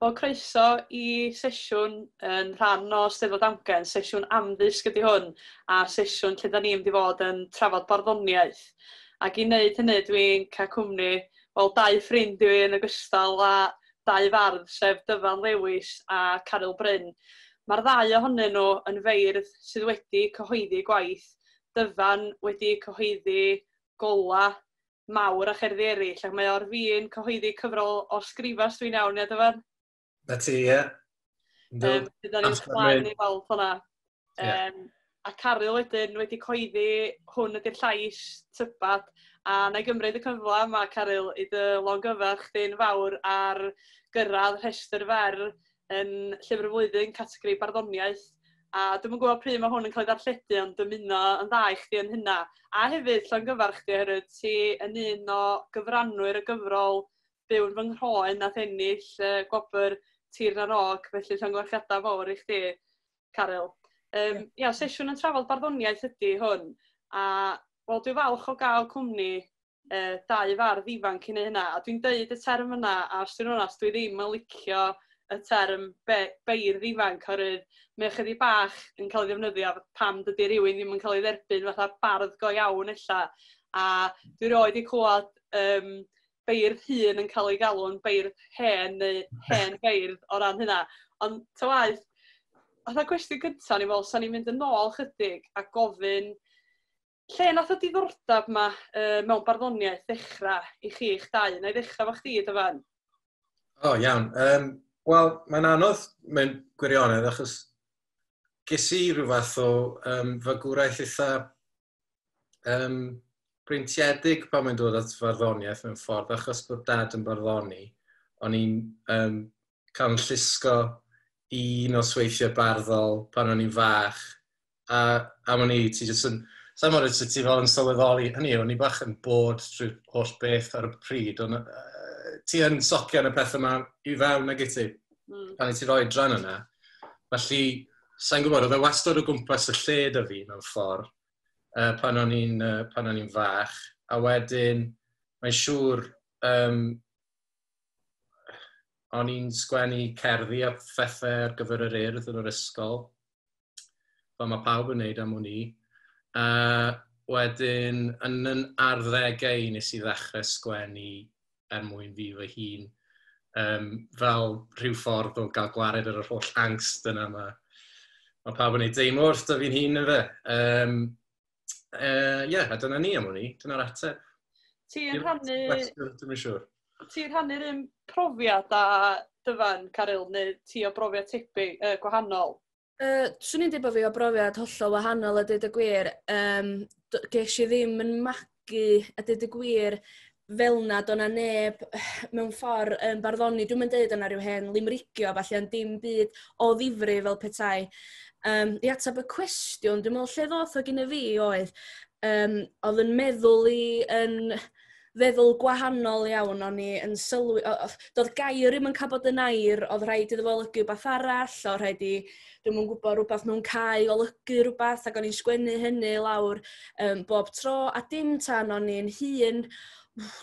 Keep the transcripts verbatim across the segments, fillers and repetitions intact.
Wel, croeso i sesiwn yn rhan o Steddfod Amgen, sesiwn amddysg ydy hwn, a sesiwn lle da ni'n mynd i fod yn trafod barddoniaeth. Ac i wneud hynny, dwi'n cael cwmni, wel, dau ffrind i fi yn ogystal â dau fardd, sef Dyfan Lewis a Caryl Bryn. Mae'r ddau ohonyn nhw yn feirdd sydd wedi cyhoeddi gwaith. Dyfan wedi cyhoeddi Gola, Mawr a cherddi eraill, ac mae o'r fin cyhoeddi cyfrol o sgrifas, dwi'n iawn, ia Dyfan? Na ti, ie. Um, Byddwn ni'n chwaen i weld hwnna. Um, yeah. A Caryl wedyn wedi coeddi Hwn Ydy'r Llais, Tybad, a na i gymryd y cyfle yma, Caryl, i dy longyfarch chdi'n fawr ar gyrraedd rhestr fer yn Llyfr y Flwyddyn, categori barddoniaeth. A dwi'm yn gwybod pryd mae hwn yn cael ei ddarlledu, ond dymuno yn dda i chdi yn hynna. A hefyd llongyfarch chdi oherwydd ti yn un o gyfranwyr y gyfrol Byw'n Fy Nghroen nath ennill uh, gwobr Tir na N-Og, felly llongyfarchiadau fawr i chdi, Caryl. Um, yeah. Ia, sesiwn yn trafod barddoniaeth ydy hwn, a wel, dwi'n falch o gael cwmni uh, dau fardd ifanc i wneud hynna, a dwi'n deud y term yna, a os dwi'n onast, dwi ddim yn licio y term be beirdd ifanc, oherwydd mae ychydig bach yn cael ei ddefnyddio pam dydy rhywun ddim yn cael ei dderbyn fatha bardd go iawn ella, a dwi roed i clywed um, beirdd hŷn yn cael ei galw'n beirdd hen neu hen feirdd o ran hynna. Ond ta waeth, fatha cwestiwn gyntaf ni fel, sa'n ni'n mynd yn ôl chydig a gofyn lle nath y diddordeb yma uh, mewn barddoniaeth ddechrau i chi eich dau? Na i ddechrau efo chdi, Dyfan? O, oh, iawn. Um, Wel, mae'n anodd mewn gwirionedd achos ges i rhyw fath o um, fagwraeth eitha um, breintiedig pan mae'n dod at farddoniaeth mewn ffordd, achos bod dad yn barddoni, o'n i'n um, cael yn llusgo i nosweithiau barddol pan o'n i'n fach, a, a o'n i, ti jyst yn, sa'n mwyn ti fel yn sylweddoli, hynny, o'n i bach yn bod trwy'r holl beth ar y pryd, ond uh, ti yn socian y pethau yma i fewn ag i ti, mm. pan i ti roi dran yna. Felly, sa'n gwybod, oedd e wastad o gwmpas y lle da fi mewn ffordd, Uh, pan o'n i'n uh, pan o'n i'n fach, a wedyn mae'n siŵr um, o'n i'n sgwennu cerddi a phethau ar gyfer yr Urdd yn yr ysgol, fel mae pawb yn neud am wn i. Uh, wedyn, yn yn arddegau nes i ddechrau sgwennu er mwyn fi fy hun, um, fel rhyw ffordd o gael gwared ar yr holl angst yna mae ma pawb yn ei deimlo wrth fi'n hun yn fe. Um, Ie, uh, yeah, a dyna ni am hwn i, dyna'r ateb. Ti'n rhannu... Dwi'n siŵr. Ti'n rhannu'r un profiad a Dyfan, Caryl, neu ti o brofiad tebyg, uh, gwahanol? Uh, swn i'n dweud bod fi o brofiad hollol wahanol a dweud y gwir. Um, ges i ddim yn magu a dweud y gwir fel na, do'na neb mewn ffordd yn barddoni. Dwi'm yn deud yna rhyw hen limrigio, falle, ond dim byd o ddifri fel petai. Um, I ateb y cwestiwn, dwi'n meddwl lle ddoth o gyda fi oedd, um, oedd yn meddwl i yn feddwl gwahanol iawn, o'n i yn sylwi, doedd gair ddim yn cael bod yn air, oedd rhaid iddo fo olygu rhywbeth arall, oedd rhaid i, dwi'm yn gwybod, rhywbeth mewn cae olygu rhywbeth, ac o'n i'n sgwennu hynny lawr um, bob tro, a dim tan o'n i'n hŷn,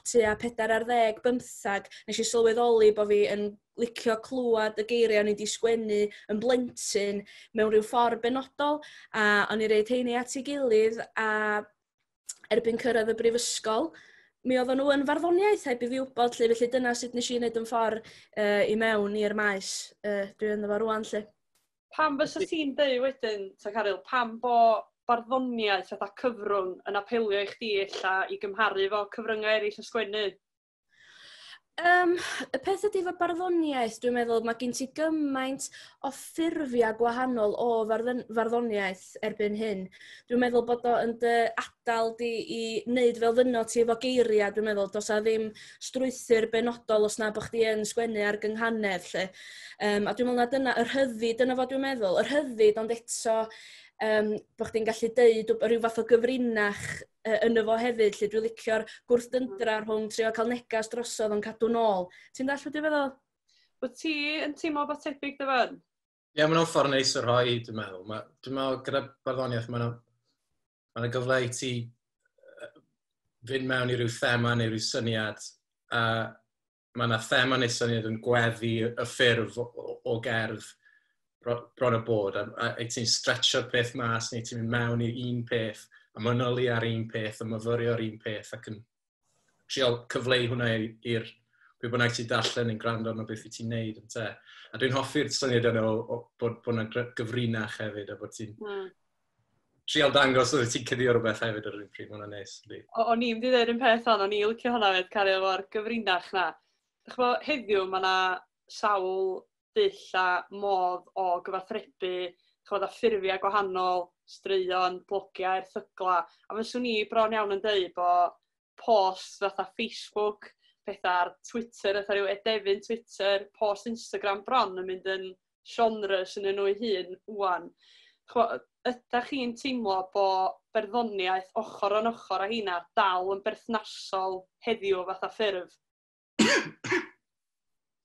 tua pedair ar ddeg, bymthag, nes i sylweddoli bod fi yn licio clywed y geiriau o'n i wedi sgwennu yn blentyn mewn rhyw ffordd benodol, a o'n i roid heini at ei gilydd, a erbyn cyrraedd y brifysgol, mi oedden nhw yn farddoniaeth heb i fi wybod, lle, felly dyna sut nes i wneud yn ffordd uh, i mewn i'r maes uh, dwi ynddo fo rwan, lle. Pam fysa ti'n deud wedyn, ta Caryl, pam bo barddoniaeth fatha cyfrwng yn apelio i chdi ella i gymharu efo cyfryngau eraill o sgwennu? Um, y peth ydy efo barddoniaeth, dwi'n meddwl, mae gen ti gymaint o ffurfiau gwahanol o farddon, farddoniaeth erbyn hyn. Dwi'n meddwl bod o yn dy adael di i wneud fel ddyno ti efo geiriau, dwi'n meddwl, does a ddim strwythur benodol os na bod chdi yn sgwennu ar gynghanedd, lle. Um, a dwi'n meddwl na dyna, yr rhyddid, dyna fo dwi'n meddwl, yr rhyddid, ond eto um, bod chdi'n gallu deud rhyw fath o gyfrinach uh, yno fo hefyd, lle dwi'n licio'r gwrthdyndra rhwng trio cael negas drosodd ond cadw nôl. Ti'n dallt beth dwi'n feddwl? Wyt ti yn teimlo bod tebyg, Dyfan? Ie, yeah, mae'n ffordd neis o rhoi, dwi'n meddwl. Ma, dwi'n meddwl gyda barddoniaeth, mae'n ma gyfle i ti fynd mewn i ryw thema neu ryw syniad, a Mae yna thema neu syniad yn gweddu y ffurf o, o, o gerdd bron o bod, a, a, a ti'n stretcho'r peth mas, neu ti'n mynd mewn i un peth, a manylu ar un peth, a myfyrio ar un peth, ac yn trial cyfleu hwnna i'r pwy bynnag ti'n darllen yn gwrando arno beth wyt ti'n neud. Ynte. A dwi'n hoffi'r syniad yna o, o bod, bod yna gyfrinach hefyd, a bod ti'n mm. trial dangos oedd ti'n cuddio rhywbeth hefyd ar yr un pryd, mae hwnna'n neis. O'n i'n mynd i ddweud un peth o'n, o'n i'n licio hwnna fed, cario efo'r gyfrinach na. Dych chi'bo, heddiw mae yna sawl dull a modd o gyfathrebu, ch'bod, a ffurfiau gwahanol, straeon, blogiau, erthygla. A fyswn i bron iawn yn dweud bod post fatha Facebook, pethau ar Twitter, fatha rhyw edefyn Twitter, post Instagram bron yn mynd yn genres yn nhw eu hun wan. Ch'bo, ydych chi'n teimlo bod berddoniaeth ochr yn ochr â hynna dal yn berthnasol heddiw fatha ffurf?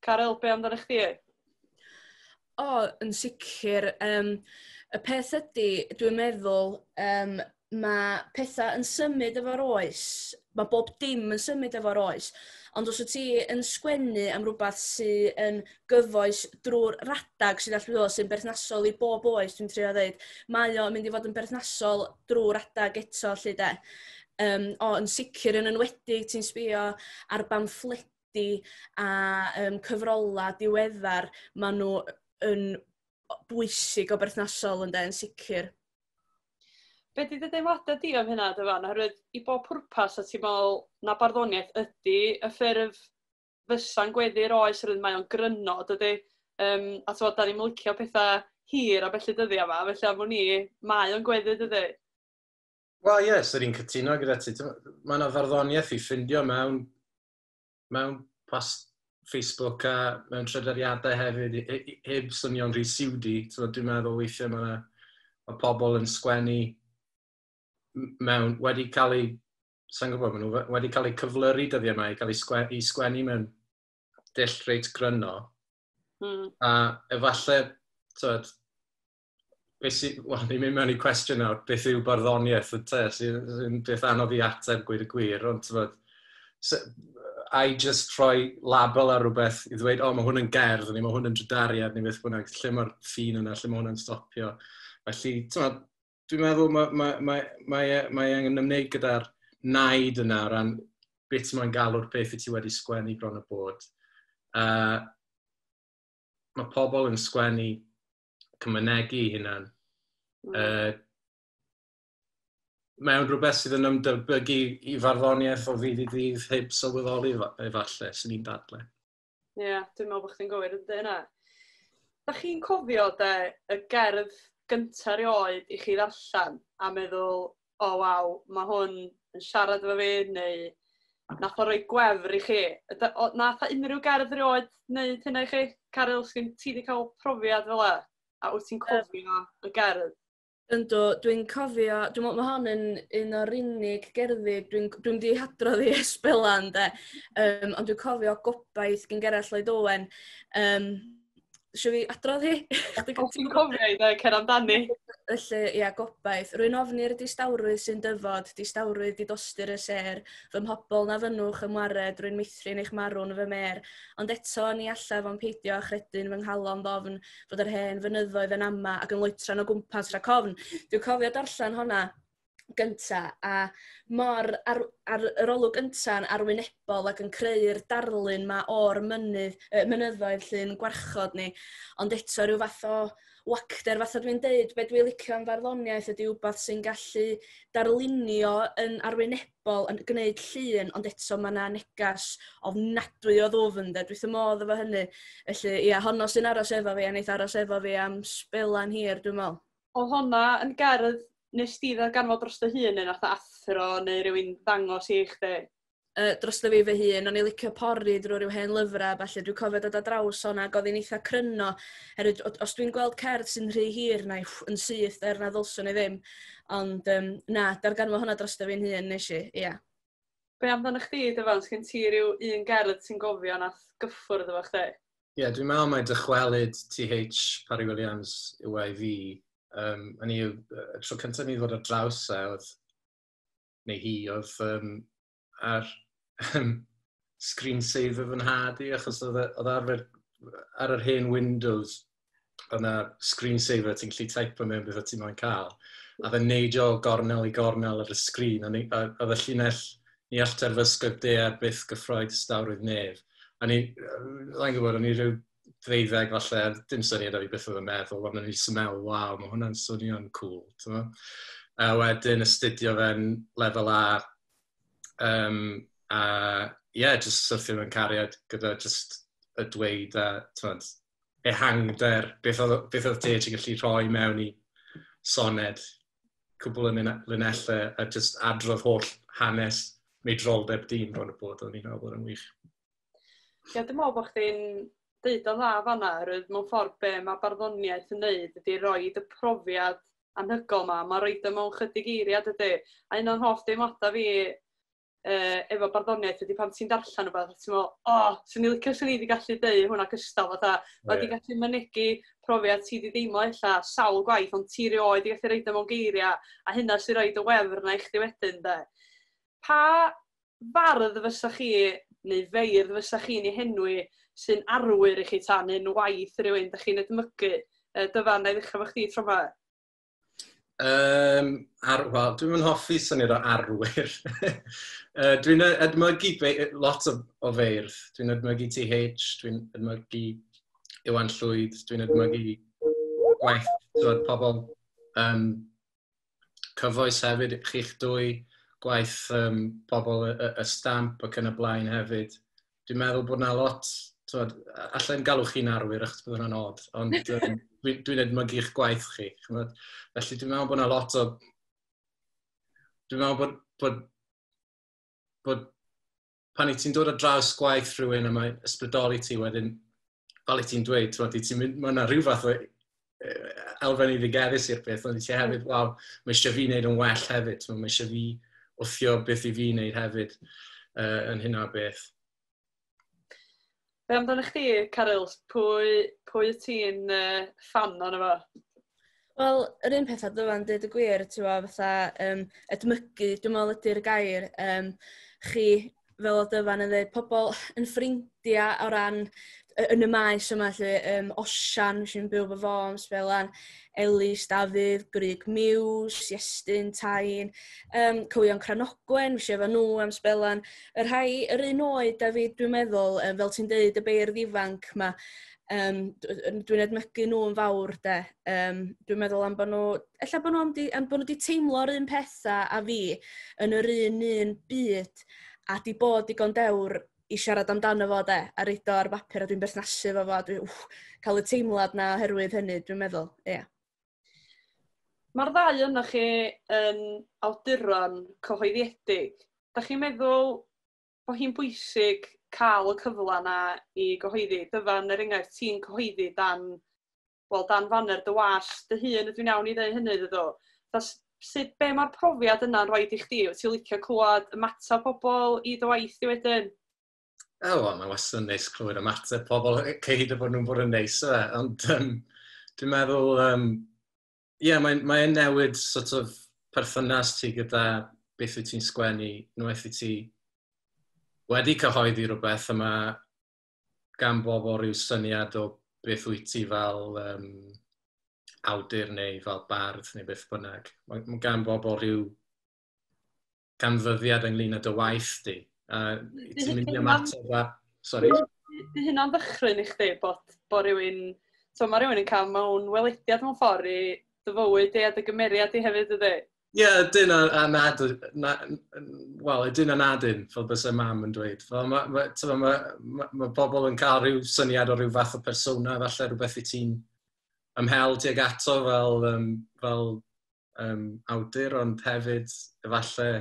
Caryl, be amdano chdi? O, yn sicr. Um, y peth ydy, dwi'n meddwl, um, mae pethau yn symud efo'r oes. Mae bob dim yn symud efo'r oes. Ond os wyt ti yn sgwennu am rhywbeth sydd yn gyfoes drwy'r radag sydd allweddol, sy'n berthnasol i bob oes, dwi'n trio dweud, mae o'n mynd i fod yn berthnasol drwy'r radag eto, lle de. Um, o, yn sicr yn enwedig ti'n sbio ar bamffledi a um, cyfrola diweddar, maen nhw yn bwysig o berthnasol yn de, yn sicr. Be di dy deimladau di am hynna, Dyfan? Oherwydd i bob pwrpas a ti'n meddwl na barddoniaeth ydy y ffurf fysa'n gweddu'r oes, oherwydd mae o'n gryno, dydy. Um, a ti'n da ni'n licio pethau hir a felly dyddiau yma, felly am wn i, mae o'n gweddu, dydy. Wel, ie, yes, yr un cytuno gyda ti. Mae yna farddoniaeth i ffindio mewn, mewn post Facebook a mewn trydariadau hefyd, heb swnio'n rhy siwdi. Dwi'n meddwl weithiau mae yna mae pobl yn sgwennu mewn, wedi cael ei, sa'n gwybod, maen nhw wedi cael eu cyflyru dyddiau yma i cael ei sgwennu, i sgwennu mewn dull reit gryno. Mm. A efallai, tywed, beth sy, wel, ni'n mynd mewn i cwestiwn nawr, beth yw barddoniaeth, y te, sy'n sy beth anodd i ateb gweud y gwir, ond tywed, I just rhoi label ar rhywbeth i ddweud, o, oh, mae hwn yn gerdd, neu mae hwn yn drydariad, neu beth bynnag, lle mae'r ffin yna, lle mae hwnna'n stopio. Felly, tywed, dwi'n meddwl mae, mae, mae, mae, mae angen ymwneud gyda'r naid yna o ran beth mae'n galw'r peth i ti wedi sgwennu bron y bod. Uh, mae pobl yn sgwennu cymynegu hunan. Mm. Uh, mewn rhywbeth sydd yn ymdebygu i farddoniaeth o ddydd i ddydd heb sylweddoli efallai, sy'n ni'n dadle. Ie, yeah, dwi'n meddwl bod chdi'n gywir yn yna. Da chi'n cofio de, y gerdd gyntaf erioed i chi ddarllen a meddwl, o oh, waw, mae hwn yn siarad efo fi, neu nath o roi gwefr i chi. Nath o unrhyw gerdd erioed wneud hynna i chi? Caryl, sgyn ti wedi cael profiad fel e? A wyt ti'n cofio y gerdd? Yndw, dwi'n cofio, dwi'n meddwl mae hon yn un o'r unig gerddi, dwi'n dwi wedi hadrodd i esbelan, de, um, ond dwi'n cofio Gobaith gan Gerallt Lloyd Owen. Um, Sio fi adrodd hi? Os ti'n cofio i dde, cer amdani. Felly, ia, Gobaith. Rwy'n ofni'r distawrwydd sy'n dyfod, distawrwydd di dostur y sêr, fy mhobol na fynnwch ymwared, rwy'n meithrin eich marw'n fy mer. Ond eto, ni allaf ond peidio a chredu'n fy nghalon ddofn fod yr hen fynyddoedd yn ama ac yn loetran o gwmpas rhac ofn. Dwi'n cofio darllen honna gynta, a mor ar, ar yr olwg gynta'n arwynebol ac yn creu'r darlun ma o'r mynydd, mynyddoedd llyn gwarchod ni, ond eto rhyw fath o wacter, fatha dwi'n deud, be dwi'n licio am farddoniaeth ydy wbath sy'n gallu darlunio yn arwynebol, yn gwneud llun, ond eto mae yna negas ofnadwy o ddwfn, de. Dwi wrth fy modd efo hynny. Felly, ia, honno sy'n aros efo fi, a neith aros efo fi am sbelan hir, dwi'n meddwl. Oedd honna yn gerdd nes ti ddarganfod dros dy hun neu nath athro neu rhywun ddangos i chdi? Uh, dros fi fy hun, o'n i licio pori drwy ryw hen lyfrau, falle dwi'n cofio dod ar draws honna, ac oedd hi'n eitha cryno. Herwydd, os dwi'n gweld cerdd sy'n rhy hir, na i yn syth, er na ddylswn i ddim. Ond um, na, darganfod hwnna dros fi'n hun nes i, ia. Yeah. Be amdano chdi, Dyfan, sgyn ti ryw un gerdd sy'n gofio nath gyffwrdd efo chdi? Ie, yeah, dwi'n meddwl mai dychwelyd T H Parry Williams yw e i fi. Um, a ni, y tro cyntaf ni ddod ar draws e, oedd, neu hi, oedd um, ar um, screensaver fy nhad i, achos oedd e, arfer ar yr hen Windows, oedd yna screensaver ti'n gallu teipo mewn beth o ti'n moyn cael. A oedd e'n neidio o gornel i gornel ar y sgrin, a oedd y llinell ni all terfysgoedd daear byth gyffroed distawrwydd nef. A ni, rhaid gwybod, o'n i rhyw ddeuddeg falle, dim syniad o fi beth oedd yn meddwl, ond o'n i'n meddwl, waw, mae hwnna'n swnio'n cool. A wedyn astudio fe'n lefel A, um, a ie, yeah, just syrthio mewn cariad gyda just y dweud a t'mod, ehangder, beth oedd, beth oedd te ti'n gallu rhoi mewn i soned, cwbl o linellau a just adrodd holl hanes meidroldeb dyn bron o bod, o'n i'n meddwl bod yn wych. Ie, dwi'n meddwl bod chdi'n deud o'n dda fanna, oherwydd mewn ffordd be mae barddoniaeth yn neud ydy roid y profiad anhygoel ma, mae roid o mewn chydig eiriad ydy. A un o'n hoff deimladau fi uh, efo barddoniaeth ydy pan ti'n darllen rhywbeth, a ti'n meddwl, o, oh, swn i licio swn i wedi gallu deud hwnna cystal, fatha, yeah. Mae wedi gallu mynegi profiad ti wedi deimlo ella sawl gwaith, ond ti rioed wedi gallu roid o mewn geiriau, a hynna sy'n roid y wefr na i chdi wedyn, de. Pa fardd fysa chi, neu feirdd fysa chi'n ei henwi, sy'n arwyr i chi tan un waith rhywun da chi'n edmygu? Dyfan, na i ddechrau efo chdi tro yma. Um, ar, Wel, dwi'n mynd hoffi syniad o arwyr. uh, dwi'n edmygu lot o, o feirdd. Dwi'n edmygu T H, dwi'n edmygu Iwan Llwyd, dwi'n edmygu gwaith dod, pobl um, cyfoes hefyd, chi'ch dwy, gwaith um, pobl y, y, y stamp ac yn y blaen hefyd. Dwi'n meddwl bod na lot, twod, allai'n galw chi'n arwyr achos bydd hwnna'n od, ond um, dwi'n dwi edmygu'ch gwaith chi. Ch'mod? Felly dwi'n meddwl bod na lot o... Dwi'n meddwl bod, bod, bod pan i ti'n dod ar draws gwaith rhywun a mae ysbrydoli ti wedyn, fel i ti'n dweud, twod, i ti'n mynd, mae yna rhyw fath o elfen iddigeddus i'r peth, ond i ti hefyd, waw, mae eisiau fi wneud yn well hefyd, twod, mae eisiau fi wthio beth i fi wneud hefyd uh, yn hynna beth. Be amdano chdi, Caryl? Pwy, pwy y ti'n uh, ffan ono fo? Wel, yr un peth a Dyfan, dweud y gwir, ti'n gwbod, fatha um, edmygu, dwi'n meddwl ydy'r gair. Um, chi, fel o Dyfan yn dweud, pobl yn ffrindiau o ran yn y maes yma, lle, um, Osian, sy'n byw fo fo am sbelan, Elis, Dafydd, Grug Muse, Iestyn, Tain, um, Cywion Cranogwen, fi efo nhw am sbelan. Y rhai, yr un oed, David, dwi'n meddwl, um, fel ti'n deud, y beirdd ifanc ma, um, dwi'n edmygu nhw yn fawr, de. Um, dwi'n meddwl am bod nhw, ella bod nhw, am di, am bod nhw wedi teimlo'r un pethau a fi yn yr un un byd, a di bod digon dewr i siarad amdano fo, de, a reid o ar bapur, a dwi'n berthnasu fo fo, dwi'n wff, cael y teimlad na oherwydd hynny, dwi'n meddwl, ie. Yeah. Mae'r ddau yna chi yn awduron cyhoeddiedig. Da chi'n meddwl bod hi'n bwysig cael y cyfle na i gyhoeddi? Dyfan, er enghraifft, ti'n cyhoeddi dan, wel, dan faner dy was dy hun, ydw i'n iawn i ddeud hynny, dydw? Sut, be mae'r profiad yna'n rhoi i chdi? Wyt ti'n licio clywed ymateb pobl i dy waith di wedyn? O, wel, mae wastad yn neis clywed ymateb pobl, cyhyd o bod nhw'n bod yn neis, e. Ond um, dwi'n meddwl, um, ie, yeah, mae'n mae newid sort of perthynas ti gyda beth wyt ti'n sgwennu, unwaith i ti wedi cyhoeddi rhywbeth yma gan bobl rhyw syniad o beth wyt ti fel um, awdur neu fel bardd neu beth bynnag. Mae, mae gan bobl rhyw ganfyddiad ynglyn â dy waith di. A ti'n mynd i ymateb a... Sorry. Di hynna'n ddychryn i chdi bod, bod rhywun... So mae rhywun yn cael mewn welediad mewn ffordd i dy fywyd di a dy gymeriad di hefyd ydy? Ie, yeah, ydyn a, a nad... Na, wel, ydyn a nadyn, fel byse mam yn dweud. Fel mae ma, ma, ma, ma, ma bobl yn cael rhyw syniad o rhyw fath o persona, falle rhywbeth i ti'n ymhel tuag ato fel, um, fel um, awdur, ond hefyd efallai,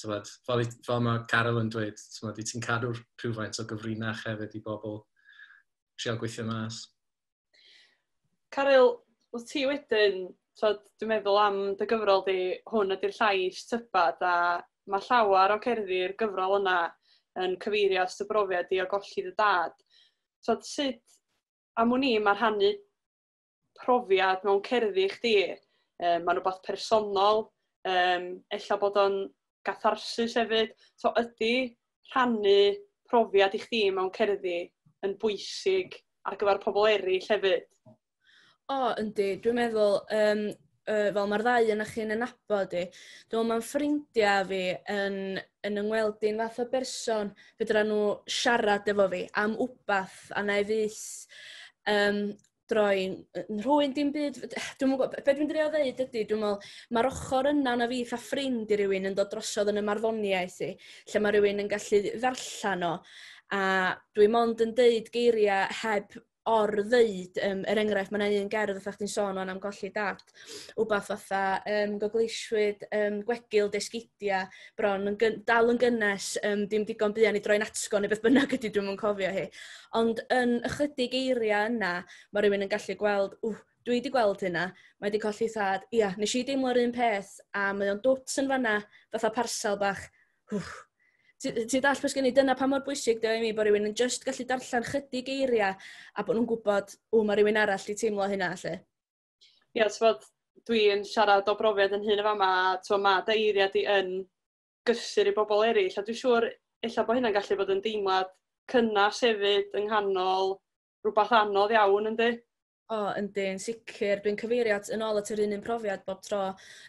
tywed, fel, fel mae Caryl yn dweud, tywed, i ti'n cadw rhywfaint o gyfrinach hefyd i bobl trial gweithio mas. Caryl, wyt ti wedyn, tywed, dwi'n meddwl am dy gyfrol di, hwn ydy'r llais tybad, a mae llawer o cerddi'r gyfrol yna yn cyfeirio at dy brofiad di o golli dy dad. Tywed, sut, am wn i, mae rhannu profiad mewn cerddi i chdi, um, mae'n rhywbeth personol, um, ella bod o'n gatharsis hefyd. So ydy rhannu profiad i chdi mewn cerddi yn bwysig ar gyfer pobl eraill hefyd? O, yndi. Dwi'n meddwl, um, uh, fel mae'r ddau yna chi'n nabod i, dwi'n meddwl mae'n ffrindiau fi yn, yn yngweld i'n fath o berson fedra nhw siarad efo fi am wbath a na i fyth um, droi yn rhywun dim byd. Dwi'n gwybod, be dwi'n drio ddeud ydy, dwi'n meddwl, mae'r ochr yna na fi fatha ffrind i rywun yn dod drosodd yn y marddoniaeth i, lle mae rhywun yn gallu ddarllen o, a dwi mond yn deud geiriau heb or-ddeud, um, er enghraifft, mae yna un gerdd fatha chdi'n sôn o'n am golli dad, wbath fatha um, gogleisiwyd um, gwegil desgidia bron yn gyn, dal yn gynnes, um, dim digon buan i droi'n atgo neu beth bynnag ydy, dwi'm yn cofio hi. Ond yn ychydig eiriau yna, mae rhywun yn gallu gweld, ww, dwi wedi gweld hynna, mae wedi colli thad, ia, nes i deimlo'r un peth, a mae o'n dwt yn fanna, fatha parsel bach, ww, Ti ti dall beth sgen i, dyna pa mor bwysig dio i mi bod rhywun yn just gallu darllen chydig eiriau a bod nhw'n gwybod, o, mae rhywun arall di teimlo hynna, lle. Ie, ti'n dwi'n siarad o brofiad yn hun y fama, ti'n mae dy eiriau di yn gysur i bobl eraill, a dwi'n siŵr ella bod hynna'n gallu bod yn deimlad cynnas hefyd yng nghanol rhywbeth anodd iawn, yndi? O, yndi, yn sicr. Dwi'n cyfeirio at, yn ôl at yr un un profiad bob tro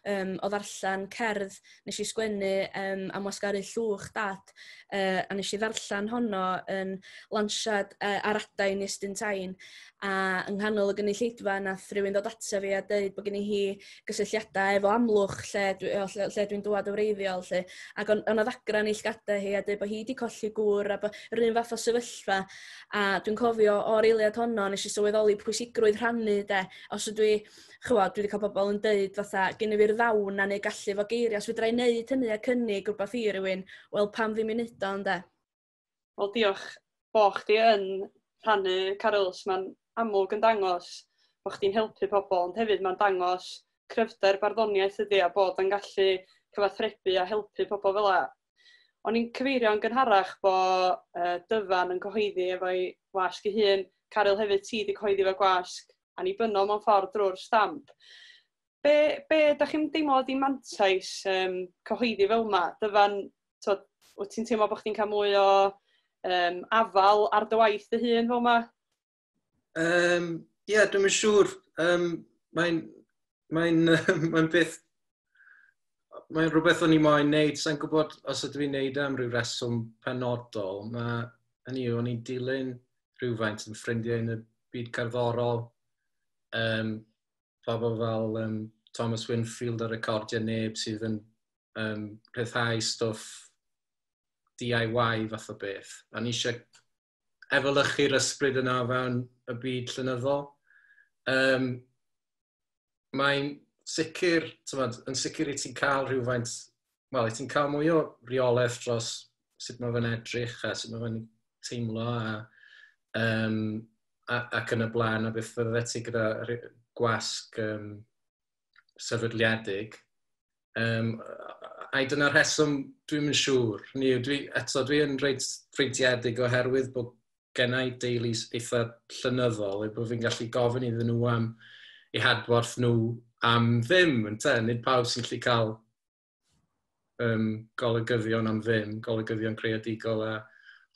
um, o ddarllen cerdd nes i sgwennu um, am wasgaru llwch dad, uh, a nes i ddarllen honno yn lansiad uh, ar adain Iestyn Tyne, a yng nghanol y gynulleidfa nath rhywun ddod ata fi a deud bod gen i hi gysylltiadau efo Amlwch lle, dwi, o, lle, lle dwi'n dŵad o wreiddiol lle. Ac o'n, o'n ddagra'n ei llgadau hi a deud bod hi wedi colli gŵr a bod yr un fath o sefyllfa. A dwi'n cofio o'r eiliad honno nes i sylweddoli pwysigrwydd rhannu de. Os ydw i, chywod, dwi wedi cael bobl yn deud fatha, gen i fi'r ddawn a neu gallu efo geiriau, os fedra i wneud hynny a cynnig rhywbeth i rywun, wel pam ddim i wneud o, ynde? Wel diolch bo chdi yn rhannu, Caryl, mae'n amlwg yn dangos bod chdi'n helpu pobl, ond hefyd mae'n dangos cryfder barddoniaeth ydy a bod yn gallu cyfathrebu a helpu pobl fel 'a. O'n i'n cyfeirio yn gynharach bod uh, Dyfan yn cyhoeddi efo'i wasg ei hun, Caryl hefyd ti wedi cyhoeddi efo gwasg annibynnol mewn ffordd drwy'r Stamp. Be, be da chi'n deimlo ydi mantais um, cyhoeddi fel yma? Dyfan, to, wyt ti'n teimlo bod chdi'n cael mwy o um, afal ar dy waith dy hun fel yma? Um, Ie, yeah, dwi'm yn siŵr. Um, mae'n mae'n mae'n beth... Mae'n rhywbeth o'n i moyn neud. Sa'n gwybod os ydw i'n neud am ryw reswm penodol. Mae, hynny yw, o'n i'n dilyn rhywfaint yn ffrindiau yn y byd cerddorol. Um, pobl fel um, Thomas Winfield ar Recordiau Neb sydd yn um, rhyddhau stwff D I Y fath o beth. A ni eisiau efelychu'r ysbryd yna o fewn y byd llenyddol. Um, mae'n sicr, t'mod, yn sicr i ti'n cael rhywfaint, wel, i ti'n cael mwy o reolaeth dros sut mae fe'n edrych a sut mae fe'n teimlo a, um, a, ac yn y blaen a beth fydde ti gyda gwasg um, sefydliedig. Um, a dyna'r rheswm dwi'm yn siŵr. Ni, dwi, eto, dwi yn reit freintiedig oherwydd bod genna i deulu eitha llenyddol, eu bod fi'n gallu gofyn iddyn nhw am eu hadborth nhw am ddim, ynte? Nid pawb sy'n gallu cael um, golygyddion am ddim, golygyddion creadigol a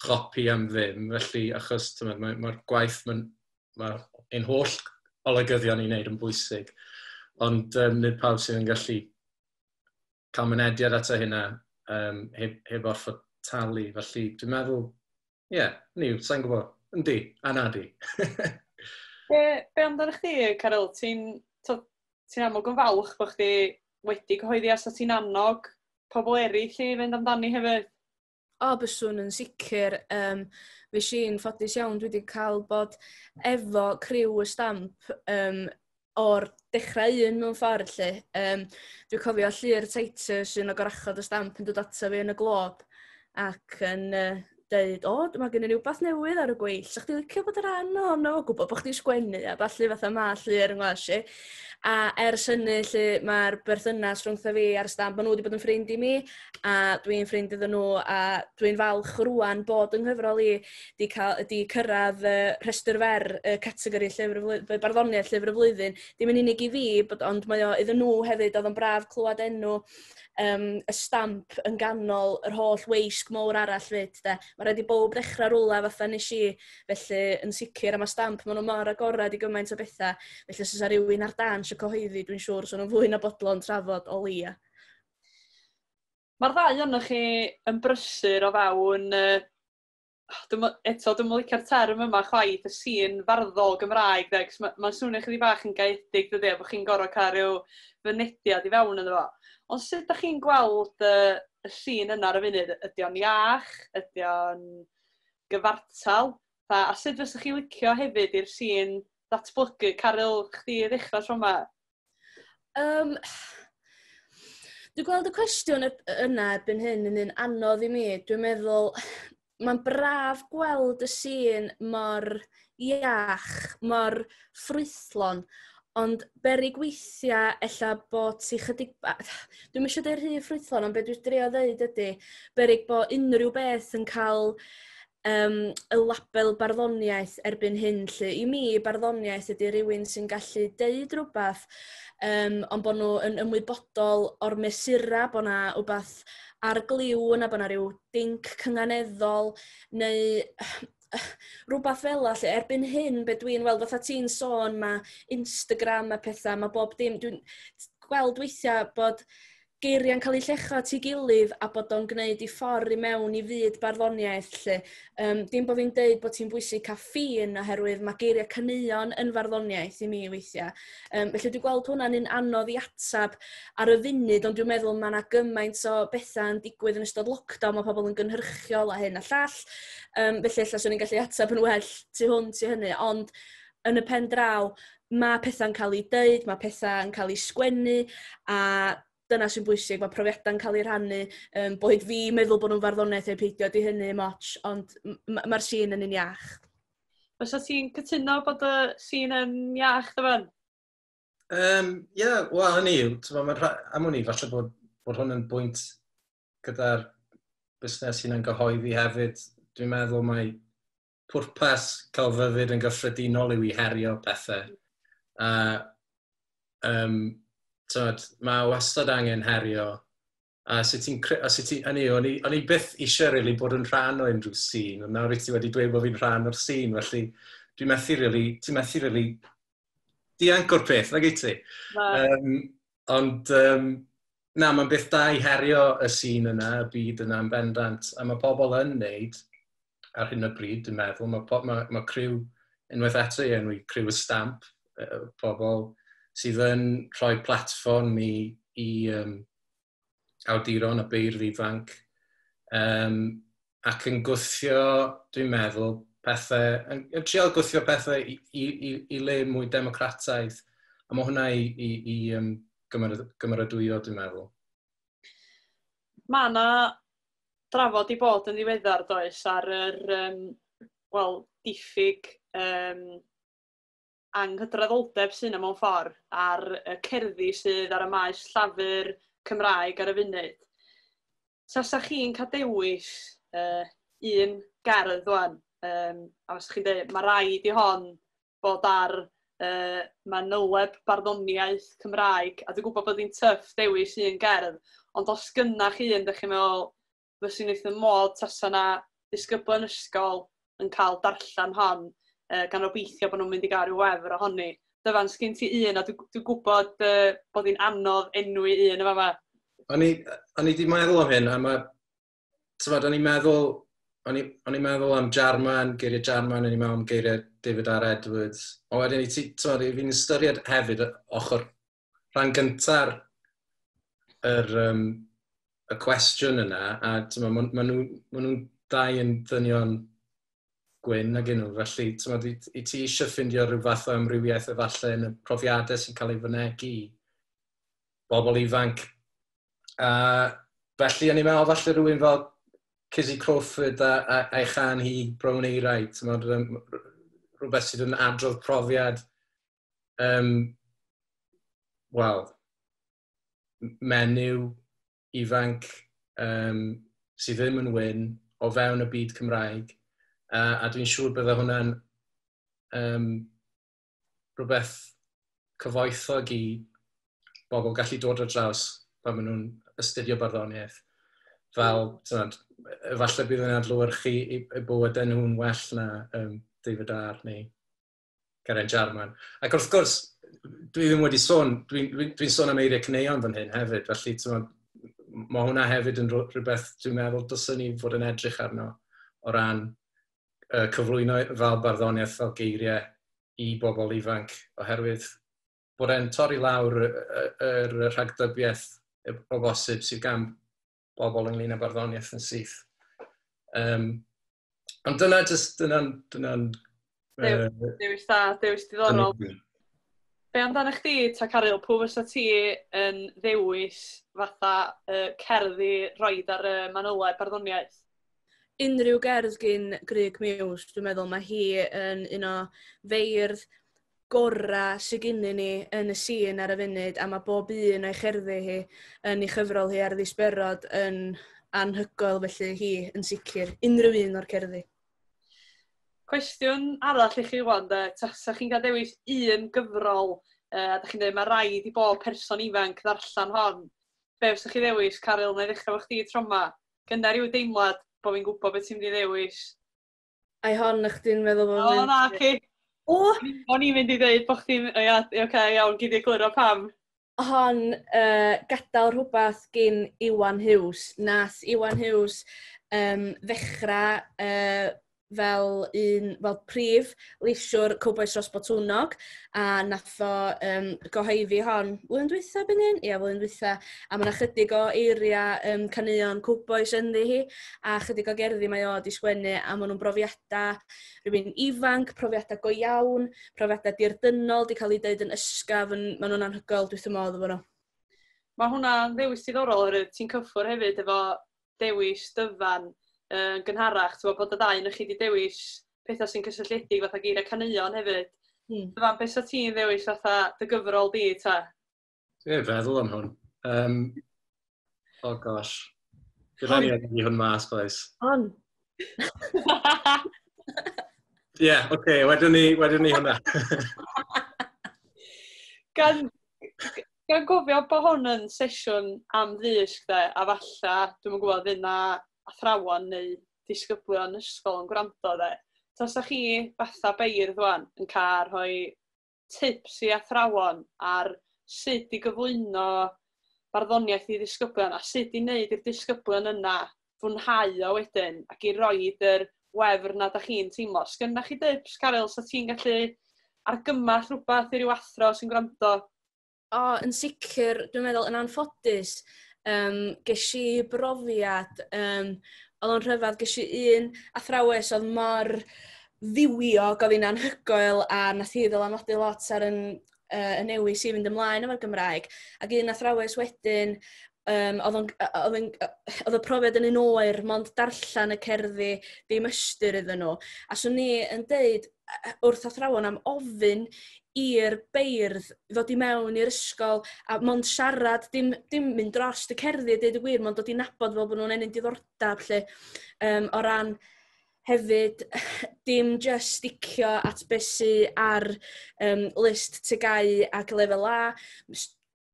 chopi am ddim. Felly, achos mae'r mae, mae gwaith, mae'n mae ein holl olygyddion i wneud yn bwysig, ond um, nid pawb sydd yn gallu cael mynediad ato hynna um, heb, heb orfod talu. Felly, dwi'n meddwl, ie, yeah, ni, sa'n gwybod, yndi, a na di. Be, be amdano chdi, Caryl? Ti'n ti amlwg yn falch bod chdi wedi cyhoeddi a sa ti'n annog pobl eraill i fynd amdani hefyd? O, byswn yn sicr. Um, Fues i'n ffodus iawn, dwi wedi cael bod efo criw y Stamp um, o'r dechrau un mewn ffordd, lle. Um, dwi'n cofio Llyr Titus, un o gorachod y Stamp, yn dod ato fi yn y Glob ac yn uh, deud, o, mae gen i rhywbeth newydd ar y gweill, sa chdi licio bod yn rhan ohono, gwybod bod chdi'n sgwennu a ballu fatha ma Llyr yn ngwas i. A ers hynny, lle, mae'r berthynas rhwngtho fi a'r Stamp, maen nhw wedi bod yn ffrind i mi, a dwi'n ffrind iddyn nhw, a dwi'n falch rŵan bod yng nghyfrol i di, cael, di cyrraedd uh, rhestr fer uh, categori llyfr y flwy-, barddoniaeth llyfr y flwyddyn. Dim yn unig i fi, bod, ond mae o iddyn nhw hefyd, oedd o'n braf clywed enw um, y Stamp yn ganol yr holl weisg mowr arall fyd, de. Mae rhaid i bob ddechrau rwla fatha nes i, felly yn sicr am y Stamp, maen nhw mor agored i gymaint o bethau. Felly os oes rhywun ar dan eisiau cyhoeddi, dwi'n siŵr, so nhw'n fwy na bodlon trafod o leia. Mae'r ddau ohonoch chi yn brysur o fewn, uh, dwi'm, eto, dwi'n licio'r term yma chwaith, y sîn farddol Gymraeg, de, mae'n ma swnio chydig bach yn gaeedig, dydy, bod chi'n gorfod cael rhyw fynediad i fewn ynddo fo. Ond sut ydych chi'n gweld uh, y sîn yna ar y funud? Ydy o'n iach? Ydy o'n gyfartal? A, a sut fysech chi licio hefyd i'r sîn ddatblygu? Caryl, chdi i ddechrau tro yma? Um, dwi'n gweld y cwestiwn yna erbyn hyn yn un anodd i mi. Dwi'n meddwl, mae'n braf gweld y sîn mor iach, mor ffrwythlon, ond berig weithiau ella bod ti chydig... Dwi'm eisiau deud rhy ffrwythlon, ond be dwi'n drio ddeud ydy, berig bod unrhyw beth yn cael um, y label barddoniaeth erbyn hyn. Lle. I mi, barddoniaeth ydy rhywun sy'n gallu deud rhywbeth, um, ond bod nhw yn ymwybodol o'r mesura, bod yna rhywbeth ar gliw yna, bod yna rhyw dinc cynganeddol, neu rhywbeth fel 'na, lle erbyn hyn, be dwi'n weld, fatha ti'n sôn, mae Instagram a pethau, mae bob dim, dwi'n gweld weithiau bod geiriau'n cael eu llecho at ei gilydd a bod o'n gwneud i ffordd i mewn i fyd barddoniaeth. Lle. Um, dim bod fi'n deud bod ti'n bwysig cael ffin oherwydd mae geiriau caneuon yn farddoniaeth i mi weithiau. Um, felly dwi'n gweld hwnna'n un anodd i atab ar y funud, ond dwi'n meddwl mae yna gymaint o bethau yn digwydd yn ystod lockdown, mae pobl yn gynhyrchiol a hyn a llall. Um, felly ella swn i'n gallu atab yn well tu hwnt i hynny, ond yn y pen draw, mae pethau'n cael eu deud, mae pethau'n cael eu sgwennu, a dyna sy'n bwysig, mae profiadau'n cael eu rhannu, um, boed fi meddwl bod nhw'n farddoniaeth neu peidio, di hynny moch, ond mae'r sîn yn un iach. Fysa ti'n cytuno bod y sîn yn iach, Dyfan? Um, yeah, wel, hynny yw, am wn i, falle bod, bod hwn yn bwynt gyda'r busnes hunan gyhoeddi hefyd. Dwi'n meddwl mai pwrpas celfyddyd yn gyffredinol yw i herio pethau. A um, tyd, mae wastad angen herio. A sut ti'n... A sut ti'n... Hynny, o'n i, o'n i byth eisiau really bod yn rhan o unrhyw sîn, ond nawr wyt ti wedi dweud bod fi'n rhan o'r sîn, felly dwi'n methu really, ti'n methu really dianc o'r peth, nag wyt ti? Um, ond, um, na, mae'n beth da i herio y sîn yna, y byd yna yn bendant, a mae pobl yn neud ar hyn o bryd, dwi'n meddwl. Mae, po, mae, mae criw, unwaith eto i enwi criw y Stamp, pobl sydd yn rhoi platfform i, i um, awduron a beirdd ifanc, um, ac yn gwthio, dwi'n meddwl, pethau, yn, yn trial gwthio pethau i, i, i, i le mwy democrataidd. A mae hwnna i, i, i um, gymeradwyo, dwi'n meddwl. Mae yna drafod i bod yn ddiweddar, does, ar yr um, well, diffyg um, anghydraddoldeb sydd yna mewn ffordd ar y cerddi sydd ar y maes llafur Cymraeg ar y funud. Tasa chi'n cael dewis uh, un gerdd wan, um, a fysa chi'n dweud, mae rhaid i hon bod ar uh, manyleb barddoniaeth Cymraeg, a dwi'n gwybod bod hi'n tough dewis un gerdd, ond os gynnach chi un, dych chi'n meddwl, fyswn i'n eitha modd tasa na disgybl yn ysgol yn cael darllen hon, uh, gan obeithio bod nhw'n mynd i gael rhyw wefr ohoni. Dyfan, sgyn ti un, a dwi'n dwi gwybod uh, bod hi'n anodd enwi un yma yma. O'n i, o'n i di meddwl am hyn, a ma, tybod, o'n i'n meddwl, o'n i'n meddwl am Jarman, geiriau Jarman, o'n i'n meddwl am geiriau David R. Edwards. Ond wedyn, i ti, tybod, fi'n ystyried hefyd ochr rhan gynta'r yr, um, y cwestiwn yna, a tybod, ma, ma nhw, ma nhw'n dau yn ddynion gwyn ag nhw, felly tybod, i, i ti eisiau ffindio rhyw fath o amrywiaeth efallai yn y profiadau sy'n cael ei fynegi i bobl ifanc. A felly, o'n i'n meddwl falle rhywun fel Kizzy Crawford a, a, a'i chan hi Brown Eirau, tybod, rhywbeth sydd yn adrodd profiad, um, wel, menyw ifanc um, sydd ddim yn wyn o fewn y byd Cymraeg. Uh, a dwi'n siŵr bydde hwnna'n um, rhywbeth cyfoethog i bobl gallu dod ar draws pan maen nhw'n astudio barddoniaeth. Fel, tynod, Efallai bydd yn adlewyrchu i, i bywydau nhw'n well na um, David R neu Geraint Jarman. Ac wrth gwrs, dwi ddim wedi sôn, dwi'n dwi, dwi sôn am eiriau caneuon fan hyn hefyd, felly mae hwnna hefyd yn rhywbeth dwi'n meddwl dylswn ni fod yn edrych arno o ran uh, cyflwyno fel barddoniaeth fel geiriau i bobl ifanc, oherwydd bod e'n torri lawr yr rhagdybiaeth o bosib sydd gan bobl ynglyn â barddoniaeth yn syth. Um, ond dyna just, dyna'n... Dyna uh, dewis da, dewis diddorol. Be amdano chdi, ta Caryl, pwy fysa ti yn ddewis fatha uh, cerddi roed ar y manyleb barddoniaeth? Unrhyw gerdd gyn Grug Muse, dwi'n meddwl mae hi yn un o feirdd gorau sydd gennyn ni yn y sîn ar y funud, a mae bob un o'i cherddi hi yn ei chyfrol hi ar ddisberod yn anhygoel, felly hi yn sicr, unrhyw un o'r cerddi. Cwestiwn arall i chi wan, de, tasa chi'n cael dewis un gyfrol, uh, a da chi'n dweud mae rhaid i bob person ifanc ddarllen hon. Be fysa chi ddewis, Caryl, neu ddechrau efo chdi tro 'ma? Gynna rhyw deimlad bod fi'n gwybod beth ti'n mynd i ddewis. Ai hon, na chdi'n meddwl bod O, na, ci. O! O'n i'n mynd i ddweud bod chdi'n... O, ia, oce, okay, iawn, gyd i egluro pam. Hon, uh, gadael rhywbeth gyn Iwan Huws. Nath Iwan Huws um, ddechrau uh, fel un, fel prif leisiwr Cowbois Rhos Botwnnog, a nath o um, gyhoeddi hon flwyddyn dwytha byn hyn? Ia, flwyddyn dwytha. A mae yna chydig o eiriau um, caneuon Cowbois ynddi hi, a chydig o gerddi mae o di sgwennu, a maen nhw'n brofiadau rhywun ifanc, profiadau go iawn, profiadau dirdynnol, di cael ei deud yn ysgafn, maen nhw'n anhygoel, dwi wrth y modd efo nhw. Mae hwnna'n ddewis diddorol, oherwydd ti'n cyffwrdd hefyd efo dewis Dyfan yn gynharach, ti'n bod y ddau yn chi wedi dewis pethau sy'n cysylltiedig fatha geiriau caneuon hefyd. Hmm. Dyfan, beth sa ti'n ddewis fatha dy gyfrol di, ta? Dwi'n feddwl am hwn. Um, oh gosh. Bydd rhaid i ni hwn mas, boys. Hon. Ie, yeah, oce, okay, wedyn ni, wedyn ni hwnna. gan, gan gofio bod hwn yn sesiwn am ddysg, de, a falla, dwi'm yn gwybod, fydd na athrawon neu disgyblion ysgol yn gwrando, de. Tasa chi fatha beirdd wan yn cael rhoi tips i athrawon ar sut i gyflwyno barddoniaeth i ddisgyblion a sut i wneud i'r disgyblion yna fwynhau o wedyn ac i roed yr wefr na da chi'n teimlo. Sgynna chi tips, Caryl, sa ti'n gallu argymell rhywbeth i ryw athro sy'n gwrando? O, yn sicr, dwi'n meddwl yn anffodus, um, ges i brofiad, um, oedd o'n rhyfedd, ges i un athrawes oedd mor ddiwiog, oedd hi'n anhygoel, a nath hi ddylanwadu lot ar yn, uh, y newis i fynd ymlaen efo'r Gymraeg. Ac un athrawes wedyn, um, oedd, o'n, oedd, o'n, oedd y profiad yn un oer, mond darllen y cerddi, ddim ystyr iddyn nhw. A swn i yn deud wrth athrawon am ofyn i'r beirdd ddod i mewn i'r ysgol a mond siarad, dim, dim mynd dros y cerddi, deud y gwir, mond dod i nabod fel bod nhw'n ennyn diddordeb, lle, um, o ran hefyd dim just sticio at beth sy ar um, list T G A U ac lefel A,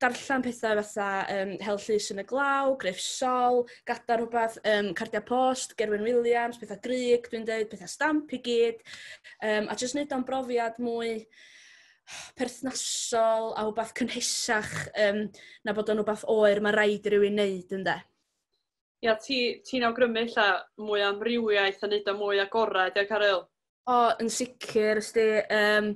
darllen pethau fatha um, Hel Llys yn y Glaw, Gruff Sol, gadael rhywbeth, um, Cardiau Post, Gerwyn Williams, pethau Grig, dwi'n dweud, pethau Stamp i gyd, um, a jyst wneud o'n brofiad mwy perthnasol a rhywbeth cynhesach um, na bod o'n rhywbeth oer mae rhaid i rywun wneud, ynde. Ia, ti'n ti awgrymu ella mwy o amrywiaeth a neud o mwy agored, ia, Caryl? O, yn sicr, ysdi, um,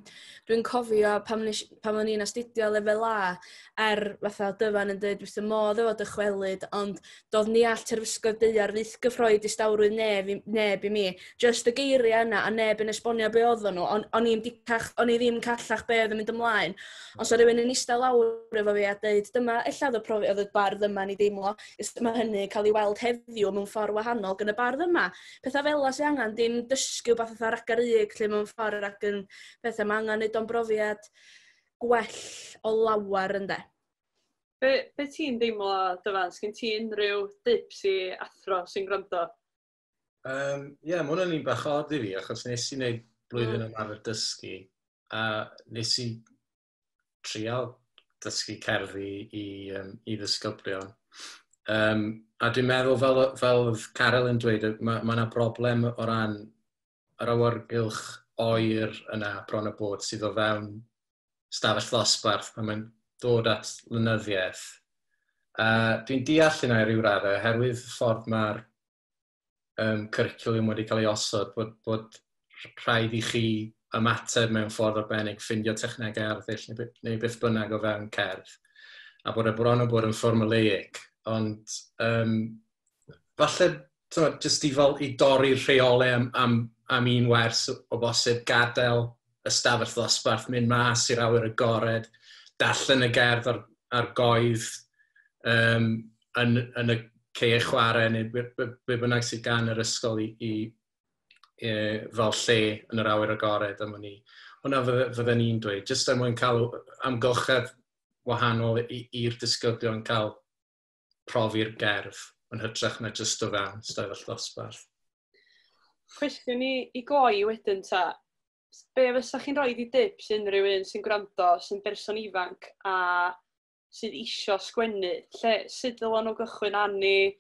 dwi'n cofio pam, nes, pam o'n i'n astudio lefel A, er fatha Dyfan yn dweud wrth y modd efo dychwelyd, ond doedd ni all terfysgoedd daear fyth gyffroi distawrwydd neb, neb i mi. Just y geiriau yna a neb yn esbonio be oedden nhw, on, o'n i'n dicach, o'n i ddim callach be oedd yn mynd ymlaen. Ond so rhywun yn eistedd lawr efo fi a dweud, dyma, ella oedd y profi, oedd y bardd yma ni deimlo, mae hynny cael ei weld heddiw mewn ffordd wahanol gan y bardd yma. Pethau fel 'na sy'n angen, dim dysgu wbath fatha ragaryg lle mewn ffordd ac yn pethau, mae angen neud o'n brofiad gwell o lawar, ynde. Be, be ti'n deimlo, Dyfan? Sgyn ti unrhyw dips i athro sy'n gwrando? Ie, um, yeah, mae hwnna'n un bach od i fi, achos nes i wneud blwyddyn mm. ymarfer dysgu, a nes i trial dysgu cerddi i, um, i ddisgyblion. Um, a dwi'n meddwl, fel, fel oedd Caryl yn dweud, mae ma yna broblem o ran yr awyrgylch oer yna bron o bod sydd o fewn stafell ddosbarth pan mae'n dod at lenyddiaeth. Uh, dwi'n deall hynna i ryw raddau, oherwydd y ffordd mae'r um, cwricwlwm wedi cael ei osod, bod, bod rhaid i chi ymateb mewn ffordd arbennig, ffindio technegau arddull neu, neu beth bynnag o fewn cerdd, a bod e bron o bod yn formulaic. Ond um, falle, t'mod, jyst i fel i dorri'r rheolau am, am, am un wers o bosib, gadael ystafell ddosbarth, mynd mas i'r awyr agored, darllen y gerdd ar, ar goedd um, yn, yn y caeau chwarae neu be, be, be bynnag sydd gan yr ysgol i, i, i fel lle yn yr awyr agored am wn i. Hwna fydde, fydden ni'n dweud, jyst er mwyn cael amgylchedd wahanol i'r disgyblion cael profi'r gerdd yn hytrach na jyst o fewn stafell ddosbarth. Cwestiwn i, i gloi wedyn ta, be fysa chi'n rhoi i dips unrhyw un sy'n gwrando, sy'n berson ifanc a sydd isio sgwennu? Lle, sut dylen nhw gychwyn arni?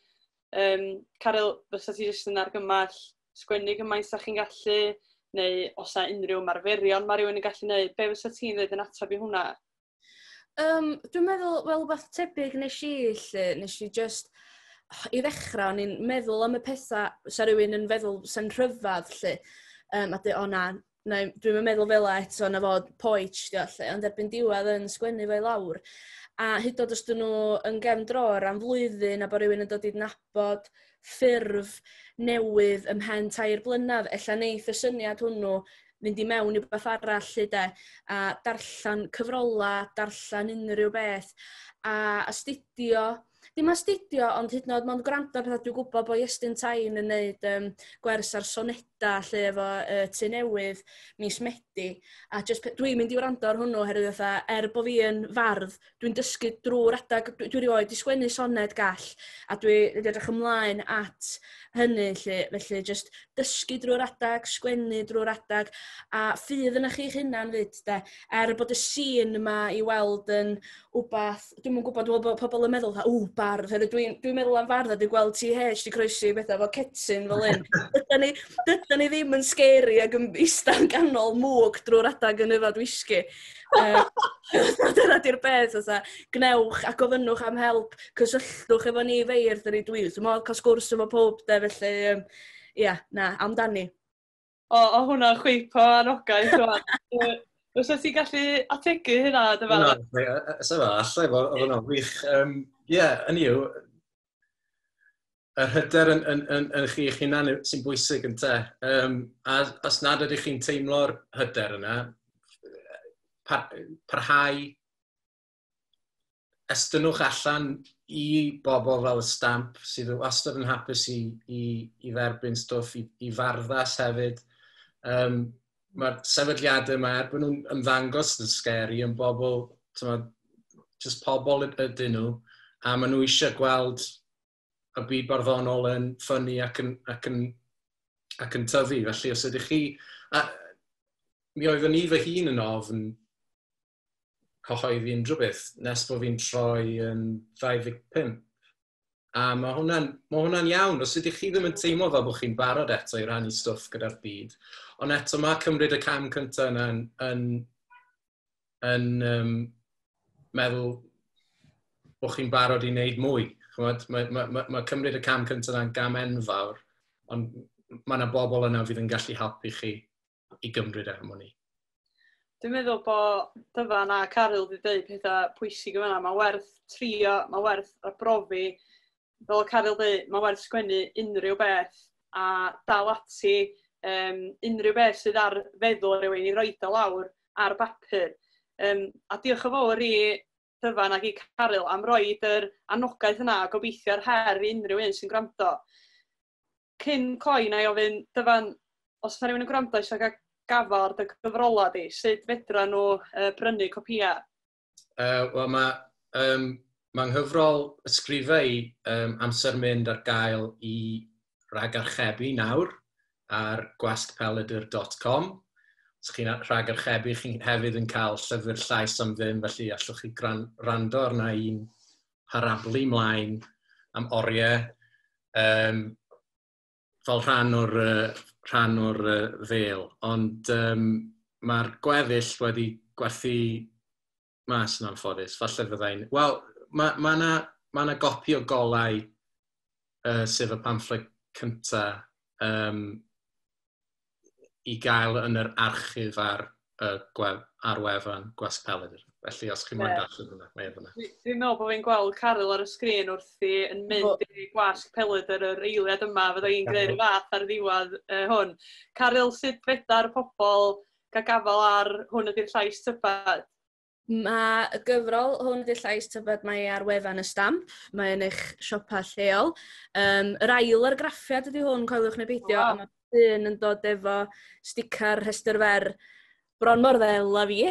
Um, Caryl, fysa ti jyst yn argymell sgwennu gymaint sa chi'n gallu, neu os 'na unrhyw ymarferion mae rhywun yn gallu neud, be fysa ti'n dweud yn ateb i hwnna? Um, dwi'n meddwl, wel, wbath tebyg nes i, lle, nes i just, i ddechrau, o'n i'n meddwl am y pethau sa rhywun yn feddwl sa'n rhyfedd, lle. Um, a dweud, o na, na, dwi'n meddwl fel eto, na fod poetsh, dio, lle, ond erbyn diwedd yn sgwennu fe i lawr. A hyd oed os dyn nhw yn gefn dror am flwyddyn a bod rhywun yn dod i nabod ffurf newydd ymhen tair blynedd, ella neith y syniad hwnnw fynd i mewn i beth arall lle de, a darllen cyfrola, darllen unrhyw beth, a astudio, dim astudio, ond hyd yn oed mond gwrando ar pethau. Dwi'n gwybod bod Iestyn Tyne yn neud um, gwers ar soneda lle efo uh, Tŷ Newydd mis Medi, a just, dwi'n mynd i wrando ar hwnnw oherwydd fatha, er bod fi yn fardd, dwi'n dysgu drwy'r adag, dwi, dwi rioed di sgwennu soned gall, a dwi wedi edrych ymlaen at hynny lle, felly just dysgu drwy'r adag, sgwennu drwy'r adag, a ffydd yna chi'ch hunan fyd, de, er bod y sîn yma i weld yn wbath, dwi'm yn gwybod, dwi'n meddwl bod pobl yn meddwl, ww, bardd, dwi'n dwi meddwl am fardd a dwi'n gweld T H di croesi bethau efo cetyn fel un. Dydan ni, dydan ni ddim yn scary ac yn eistedd yn ganol mwg drwy'r adag yn yfad whisky. Uh, dyna di'r beth, fatha, gnewch a gofynnwch am help, cysylltwch efo ni feirdd, dyn ni dwi, dwi'n meddwl cael sgwrs efo pob, de, felly, um, ia, na, amdani. O, o hwnna'n chwip o anogaeth, rwan. Fysa ti'n gallu ategu hynna, Dyfan? Na, sa fa, allai fod, oedd hwnna'n wych. Um, Ie, yeah, hynny yw, yr hyder yn, yn, yn, yn chi eich hunan sy'n bwysig yn te. Um, a os nad ydych chi'n teimlo'r hyder yna, par, parhau, estynnwch allan i bobl fel y Stamp sydd wastad yn hapus i, i, i dderbyn stwff, i, i Farddas hefyd. Um, Mae'r sefydliadau yma, er bod nhw'n ymddangos yn scary, yn bobl, t'mod, just pobl ydyn nhw, a maen nhw eisiau gweld y byd barddonol yn ffynnu ac yn, ac yn, ac yn tyfu. Felly, os ydych chi... A, mi oeddwn i fy hun yn ofn cyhoeddi unrhyw beth nes bod fi'n troi yn ddau ddeg pump. A mae hwnna'n ma hwnna'n iawn. Os ydych chi ddim yn teimlo fel bod chi'n barod eto i rannu stwff gyda'r byd, ond eto mae cymryd y cam cyntaf yna yn, yn, yn um, meddwl bod chi'n barod i wneud mwy. Ch'mod, mae, mae, mae, mae cymryd y cam cyntaf yna'n gam enfawr, ond mae yna bobl yna fydd yn gallu helpu chi i gymryd e am wn i. Dwi'n meddwl bod Dyfan a Caryl wedi dweud pethau pwysig yma. Mae werth trio, mae werth arbrofi. Fel o Caryl dweud, mae werth sgwennu unrhyw beth a dal ati um, unrhyw beth sydd ar feddwl rhywun i roid o lawr ar bapur. Um, a diolch yn fawr i Dyfan ac i Caryl am roid yr anogaeth yna a gobeithio'r her i unrhyw un sy'n gwrando. Cyn cloi, na i ofyn, Dyfan, os yna rhywun yn gwrando eisiau cael gafal ar dy gyfrola di, sut fedra nhw uh, brynu copia? Uh, Wel, mae um, ma nghyfrol ysgrifau i um, Amser Mynd ar gael i ragarchebu nawr ar gwasg pelydr dot com. Os chi'n rhagarchebu, chi'n hefyd yn cael llyfr llais am ddim, felly allwch chi gran-, rando arna i'n parablu mlaen am oriau, um, fel rhan o'r, uh, rhan o'r uh, ddêl. Ond um, mae'r gweddill wedi gwerthu mas yn anffodus. Falle fyddai'n... Wel, mae ma 'na ma 'na gopi o Golau, uh, sef y pamffled cynta, um, i gael yn yr archif ar, uh, gwef, ar wefan Gwasg Pelydr. Felly, os chi'n moyn Ie. darllen hwnna, mae efo yna. Dwi- Dwi'n meddwl bod fi'n gweld Caryl ar y sgrin wrthi yn mynd i Gwasg Pelydr yr eiliad yma, fydda i'n gwneud y fath ar ddiwedd uh, hwn. Caryl, sut fedar pobl gael gafel ar Hwn Ydy'r Llais Tybed? Mae y gyfrol Hwn Ydy'r Llais Tybed, mae ar wefan y Stamp, mae yn eich siopa lleol. Um, yr ail argraffiad ydy hwn, coeliwch neu beidio, Waw. a mae un yn dod efo sticar rhestr fer bron mor ddel a fi.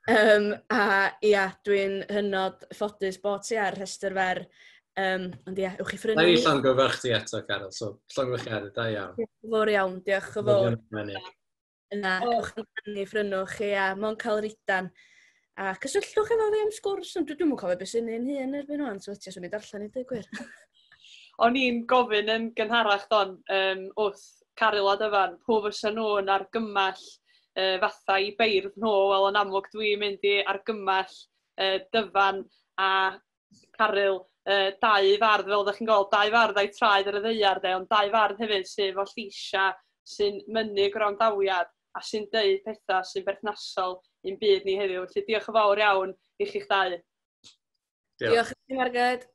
Um, a ia, dwi'n hynod ffodus bod ti ar rhestr fer. Um, ond ia, ewch i phrynu. Na i llongyfarch ti eto, Caryl, so llongyfarchiadau, da iawn. Diolch yn fawr iawn, diolch yn fawr. Fawr. Yna, O. ewch amdani, phrynwch, ia, mo'n cael ridan. A cysylltwch efo fi am sgwrs, ond dwi dwi'm yn cofio beth sy'n un hun erbyn hwn, so ti swn i darllen i dweud gwir. O'n i'n gofyn yn gynharach don, um, wrth Caryl a Dyfan, pwy fysa nhw'n argymell uh, fatha i beirdd nhw? Wel, yn amlwg dwi'n mynd i argymell uh, Dyfan a Caryl, uh, dau fardd, fel ydych chi'n gweld, dau fardd a'i traed ar y ddaear, de, ond dau fardd hefyd sydd efo lleisia sy'n mynnu gwrandawiad a sy'n deud pethau sy'n berthnasol i'n byd ni heddiw. Felly diolch yn fawr iawn i chi'ch dau. Diolch. Diolch i chi, Marged.